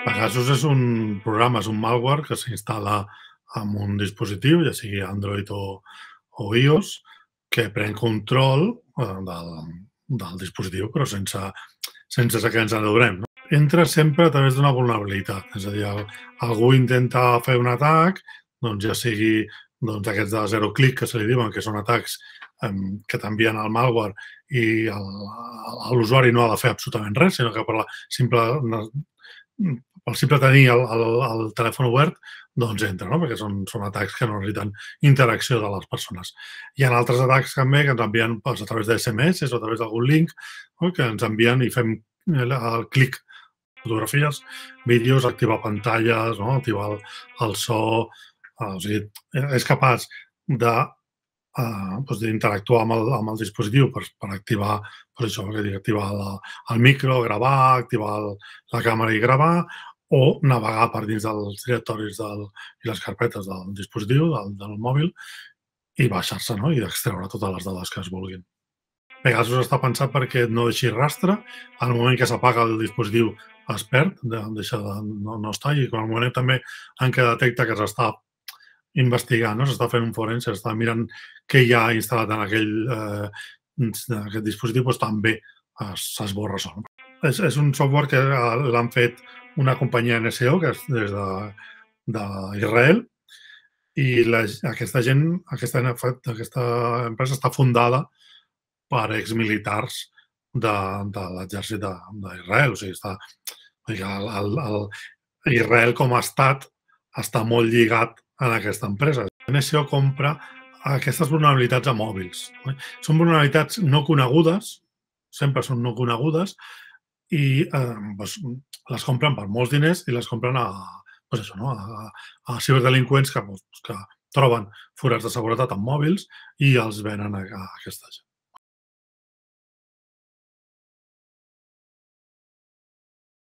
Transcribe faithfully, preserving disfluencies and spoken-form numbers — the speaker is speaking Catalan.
Pegasus és un programa, és un malware que s'instal·la en un dispositiu, ja sigui Android o, o iOS, que pren control eh, del, del dispositiu, però sense, sense que ens n'adonem. No? Entra sempre a través d'una vulnerabilitat, és a dir, el, algú intenta fer un atac, doncs ja sigui doncs, aquests de zero clic que se li diuen, que són atacs eh, que t'envien el malware i l'usuari no ha de fer absolutament res, sinó que per la simple pel simple tenir el, el, el telèfon obert, doncs entra, no? Perquè són, són atacs que no necessiten interacció de les persones. Hi ha altres atacs també que ens envien doncs, a través d'S M S o a través d'algun link, no? Que ens envien i fem el, el clic, fotografies, vídeos, activar pantalles, no? Activar el, el so, eh, o sigui, és capaç de Uh, doncs d'interactuar amb, el, amb el dispositiu per, per activar, per això, que dic, activar la, el micro, gravar, activar el, la càmera i gravar, o navegar per dins dels directoris del, i les carpetes del dispositiu, del, del mòbil, i baixar-se, no? I extreure totes les dades que es vulguin. Pegasus està pensat perquè no deixi rastre, al moment que s'apaga el dispositiu es perd, de, deixa de, no, no està, i al moment també en què detecta que s'està investigant, no? S'està fent un forense, s'està mirant què hi ha instal·lat en aquell eh, aquest dispositiu, doncs també s'esborra sol. És, és un software que l'han fet una companyia N S O, que és des d'Israel, i la, aquesta gent, aquesta, aquesta empresa està fundada per exmilitars de, de l'exèrcit d'Israel. O sigui, està, el, el, el, Israel com a estat està molt lligat en aquesta empresa. N S O compra aquestes vulnerabilitats a mòbils. Són vulnerabilitats no conegudes, sempre són no conegudes, i eh, doncs, les compren per molts diners i les compren a, doncs això, no? a, a ciberdelinqüents que, doncs, que troben forats de seguretat en mòbils i els venen a, a aquesta gent.